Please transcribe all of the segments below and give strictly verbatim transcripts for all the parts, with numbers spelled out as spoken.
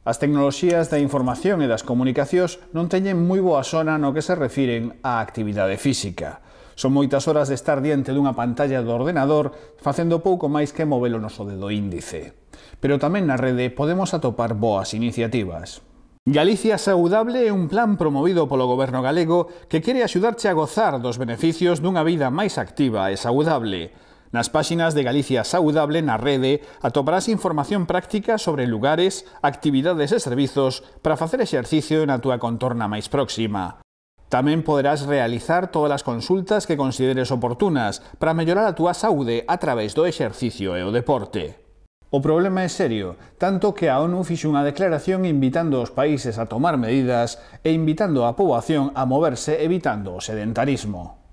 As tecnoloxías da información e das comunicacións non teñen moi boa sona no que se refiren á actividade física. Son moitas horas de estar diante dunha pantalla do ordenador facendo pouco máis que mover o noso dedo índice. Pero tamén na rede podemos atopar boas iniciativas. Galicia Saudable é un plan promovido polo goberno galego que quere axudarche a gozar dos beneficios dunha vida máis activa e saudable. Nas páxinas de Galicia Saudable na rede atoparás información práctica sobre lugares, actividades e servizos para facer exercicio na túa contorna máis próxima. Tamén poderás realizar todas as consultas que consideres oportunas para mellorar a túa saúde a través do exercicio e o deporte. O problema é serio, tanto que a ONU fixo unha declaración invitando aos países a tomar medidas e invitando a poboación a moverse evitando o sedentarismo.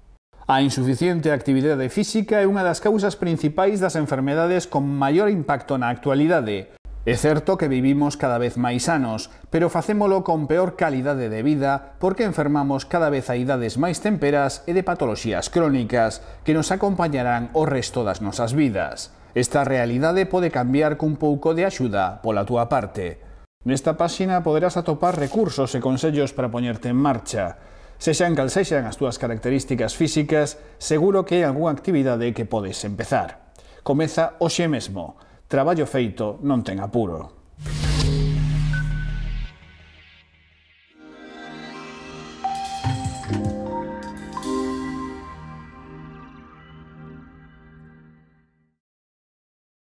A insuficiente actividade física é unha das causas principais das enfermedades con maior impacto na actualidade. É certo que vivimos cada vez máis anos, pero facémolo con peor calidade de vida porque enfermamos cada vez a idades máis temperas e de patoloxías crónicas que nos acompañarán o resto das nosas vidas. Esta realidade pode cambiar cun pouco de axuda pola túa parte. Nesta páxina poderás atopar recursos e consellos para poñerte en marcha. Sexan cal sexan as túas características físicas, seguro que hai algunha actividade que podes empezar. Comeza hoxe mesmo. Traballo feito non ten apuro.